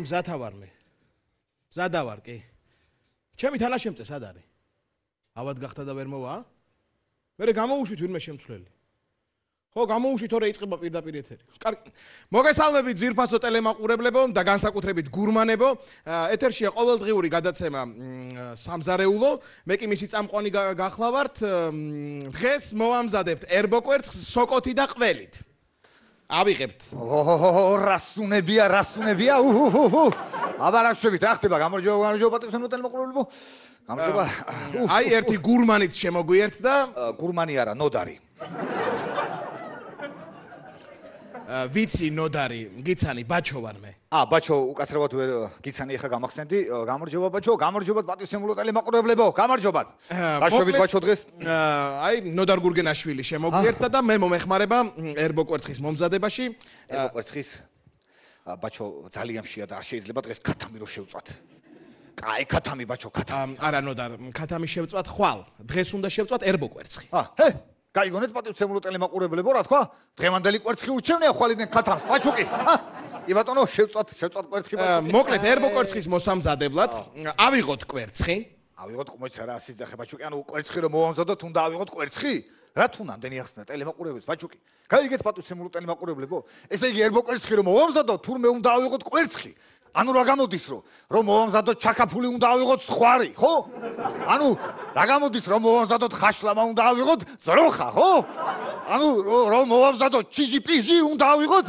მზათა ვარ მე. მზადა ვარ კი. ჩემი თანაშემწე სად არის? ავად გახდა და ვერ მოვა? მე გამოუშვით ვინმე შემცვლელი. ხო, გამოუშვით, თორე იწყება პირდაპირ ეთერი. კარგი. მოგესალმებით ძვირფასო ტელემაყურებლებო და განსაკუთრებით გურმანებო. ეთერშია ყოველდღიური გადაცემა სამზარეულო. მე კი მისი წამყვანი გახლავართ. დღეს მოვამზადებთ ერბოკვერცხს სოკოთი და ყველით. ავიღებთ. რასუნებია. აბა რა შვებით, რა ხდება? გამარჯობა პატრიოტულ ტელემაყურებლებო. გამარჯობა. აი ერთი გურმანიც შემოგვიერთდა და გურმანი არა, ნოდარი. ვიცი ნოდარი, გიცანი, ბაჩო ვარ მე. ბაჩო, უკაცრავად ვერ გიცანი ახლა გამახსენდი. გამარჯობა ბაჩო, გამარჯობათ პატრიოტულ ტელემაყურებლებო, გამარჯობათ. რა შვებით ბაჩო დღეს? აი ნოდარ გურგენაშვილი შემოგვიერთდა და მე მომეხმარება ერბოკვერცხის მომზადებაში. ერბოკვერცხის ბაჩო ძალიან მშია და არ შეიძლება დღეს ქათამი რო შევწვათ. კაი ქათამი ბაჩო, ქათამი. არა ნოდარ, ქათამი შევწვათ ხვალ. დღეს უნდა შევწვათ ერბოკვერცხი. გაიგონეთ პატრიოტულ ტელემაყურებლებო, რა თქვა? დღევანდელი კვერცხი ურჩევნია ხვალიდან ქათამს, ბაჩუკის. კი ბატონო, შევწვათ კვერცხი ბაჩო. მოკლედ ერბოკვერცხის მოსამზადებლად ავიღოთ კვერცხი. ავიღოთ მოიცა რა სიძახე ბაჩუკი, ანუ კვერცხი რომ მოვამზადოთ, უნდა ავიღოთ კვერცხი? რა თუ ნამდვილი ახსნა ტელემაყურებელს ბაჩუკი? გაიგეთ პატრიოტულ ტელემაყურებლებო? ესე იგი ერბოკვერცხი რომ მოვამზადოთ, თურმე უნდა ავიღოთ კვერცხი. ანუ რა გამოდის რომ მოვამზადოთ ჩაკაფული უნდა ავიღოთ სხვარი, ხო? ანუ რა გამოდის რომ მოვამზადოთ ხაშლამა უნდა ავიღოთ ზროხა, ხო? ანუ რომ მოვამზადოთ ჩიჟი-პიჟი უნდა ავიღოთ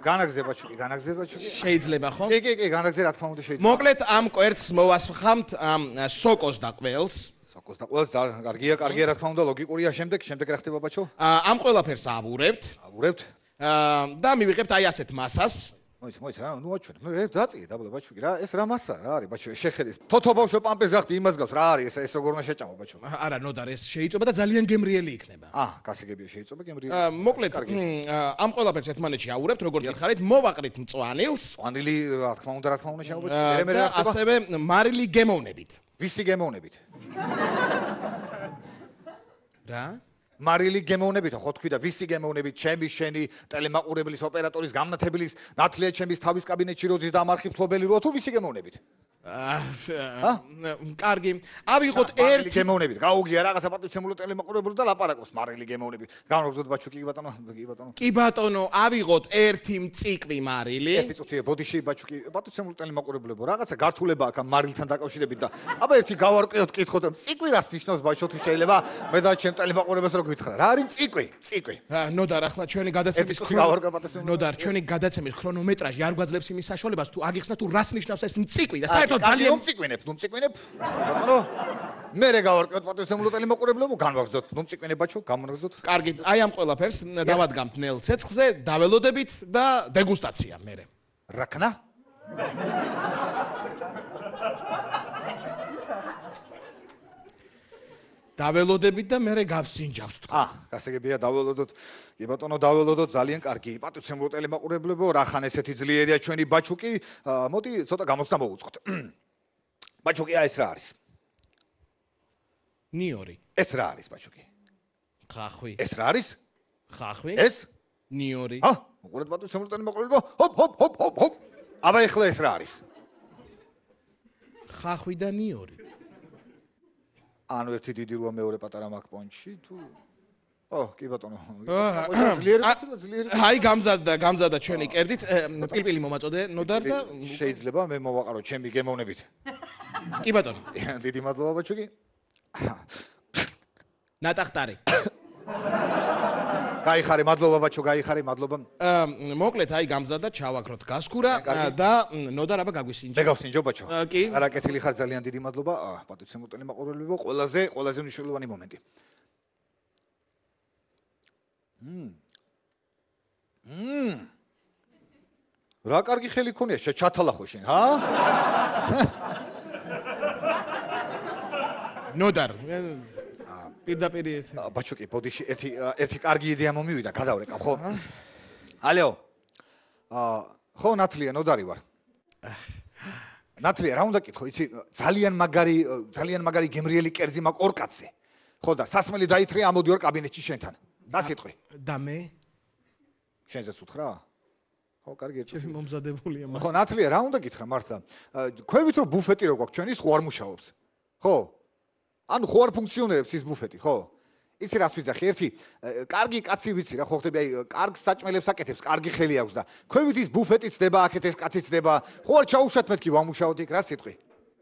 განაგზება ჩუკი. შეიძლება ხო? კი, განაგზე რა თქმა უნდა შეიძლება. მოკლედ ამ კვერცხს მოვასხამთ ამ სოკოს და ყველს. სოკოს და ყველს კარგია, რა თქმა უნდა, ლოგიკურია. შემდეგ რა ხდება ბაჩო? ამ ყველაფერს ავურებთ. და მივიღებთ აი ასეთ მასას. მოიცა, ნუ აჩვენე. მე დაწიე დაბლა ბაჩუკი რა, ეს რა მასა რა არის ბაჩო, შეხედეს. თოთო ბავშვო პამპეს გახდი იმას გავს, რა არის ეს როგორ უნდა შეჭამო ბაჩო? არა, ნოდარ ეს შეიწובה და ძალიან გემრიელი იქნება. გასაგებია შეიწובה გემრიელი. მოკლედ ამ ყველაფერს ერთმანეთში ავურებთ, როგორც გითხარით, მოვაყრით მწვანილს. მწვანილი რა თქმა უნდა შემო ბაჩო. მე და ასევე მარილი გემოვნებით. ვისი გემოვნებით? რა? მარილი გემოვნებით, ხო თქვი და ვისი გემოვნებით? ჩემი, შენი, ტელემაყურებლის, ოპერატორის, გამნათებლის, ნათლია ჩემის თავის კაბინეტში როძის და ამარხი ფლობელი რო თუ ვისი გემოვნებით? კარგი. ავიღოთ ერთი გემოვნებით. გაუგია რაღაცა პატრიოტულ ტელემაყურებელს და ლაპარაკობს მარილი გემოვნებით. გამოგზოდ ბაჩუკი კი ბატონო. კი ბატონო, ავიღოთ ერთი მწიკვი მარილი. ერთი წუთია ბოდიში ბაჩუკი პატრიოტულ ტელემაყურებლებო. რაღაცა გართულება აქ ამ მარილთან დაკავშირებით და აბა ერთი გავარკვიოთ კითხოთ მწიკვი რას ნიშნავს ბაჩო თუ შეიძლება მე და ჩემ ტელემაყურებელს რო გითხრა. რა არის მწიკვი? ნოდარ ახლა ჩვენი გადაცემის ნოდარ ჩვენი გადაცემის ქრონომეტრაჟი არ გვაძლევს იმის საშუალებას თუ აგიხსნა თუ რას ნიშნავს ეს მწიკვი და საერთოდ ძალიან მწიკვინებ. ბატონო, მე გავარკვიოთ პატრიოტულ ტელემაყურებლებო, განვაგზოთ. მწიკვინებ ბაჩო, გამოგზოთ. კარგი, აი ამ ყველაფერს დავადგამთ ნელ ცეცხლზე, დაველოდებით და დეგუსტაცია მერე. რაკნა? დაველოდებით და მერე გავსინჯავთ თქვა. გასაგებია დაველოდოთ. კი ბატონო, დაველოდოთ, ძალიან კარგი. პატრიოტულ ტელემაყურებლებო, რახან ესეთი ძლიერია ჩვენი ბაჩუკი. მოდი ცოტა გამოცდა მოვუწყოთ. ბაჩუკი, ეს რა არის? ნიორი. ეს რა არის ბაჩუკი? ხახვი. ეს რა არის? ხახვი. ეს? ნიორი. უყურეთ პატრიოტულ ტელემაყურებლებო. ჰოპ. აბა ეხლა ეს რა არის? ხახვი და ნიორი. ანუ ერთი დიდი რუა მეორე პატარა მაგ პონჩი თუ კი ბატონო. ძლიერი. აი გამზადდა ჩვენი კერძით. პილპილი მომაწოდე ნოდარ და შეიძლება მე მოვაყარო ჩემი გემოვნებით. კი ბატონო. დიდი მადლობა ბაჩუკი. ნატახტარი. გაიხარე, მადლობა ბაჩო, მადლობა. მოკლედ აი გამზადდა ჩავაქროთ გასქურა და ნოდარ აბა გაგვისინჯო. მე გავსინჯო ბაჩო. კი. არა კეთილი ხარ, ძალიან დიდი მადლობა. პატრიოტულ ტელემაყურებლებო, ყველაზე მნიშვნელოვანი მომენტი. რა კარგი ხელი ქონია, ჩათალახო შენ, ნოდარ. პირდაპირ ბაჩუკი, ბოდიში ერთი კარგი იდეა მომივიდა, გადავრეკავ, ხო? ალო. ხო, ნათლია, ნოდარი ვარ. ნათლია, რა უნდა კითხო, იცი, ძალიან მაგარი გემრიელი კერძი მაქვს ორ კაცზე. ხო და სასმელი დაითრია ამოდიوار კაბინეტში შენთან. და სიტყვი. და მე შენზე სუთხრა? ხო, კარგი ერთად. ჩემი მომზადებულია ხო, ნათლია, რა უნდა გითხრა მართლა? ქვევით რომ ბუფეტი რო გვაქვს ჩვენი, ხო არ მუშაობს. ხო? ანუ ხო არ ფუნქციონირებს ის ბუფეტი, ხო? ისი რას ვიძახი? ერთი, კარგი კაცი ვიცი რა, ხო ხდები, აი, კარგ საჭმელებს აკეთებს, კარგი ხელი აქვს და ქვევით ის ბუფეტიც დება, აქეთ ეს კაციც დება. ხო არ ჩაუშვათ მეთქი ვამუშაოთ იქ, რა სიტყვი?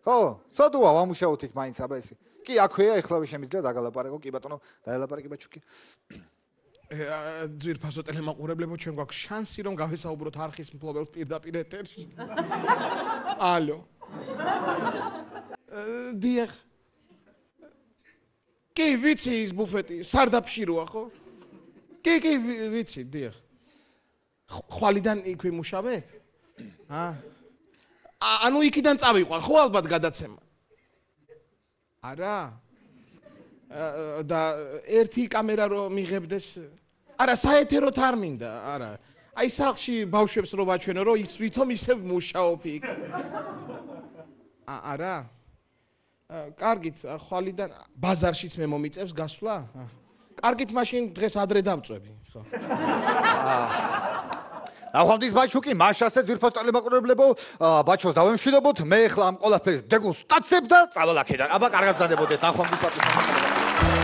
ხო, ცოდუა ვამუშაოთ იქ მაინც აბა ესე. კი, აქვეა, ეხლავე შემიძლია დაგალაპარაკო, კი ბატონო, დაელაპარაკე ბაჩუკი. ძვირფასო ტელემაყურებლებო, ჩვენ გვაქვს შანსი რომ გავესაუბროთ არხის მფლობელს პირდაპირ ეთერში. ალო. დიახ. კი, ვიცი ის ბუფეტი, სარდაფში როა, ხო? კი, ვიცი, დიახ. ხვალიდან იქ ვიმუშავებ? ანუ იქიდან წავიყვა, ხო ალბათ გადაცემა. არა? და ერთი კამერა რო მიღებდეს არა საეთეროთ არ მინდა არა აი სახლში ბავშვებს რო ვაჩვენო რომ ის ვითომ ისევ მუშაობ იქ არა კარგით ხვალიდან ბაზარშიც მე მომიწევს გასვლა კარგით მაშინ დღეს ადრე დავწვევი ხო ნახვამდის ბაჩუკი მაშასე ძვირფას ტელემაყურებლებო ბაჩოს დავემშვიდობოთ მე ახლა ამ ყველაფერს დეგულს ვტაცებ და წავალ აქედან აბა კარგად ბრძანდებოდეთ ნახვამდის პატივს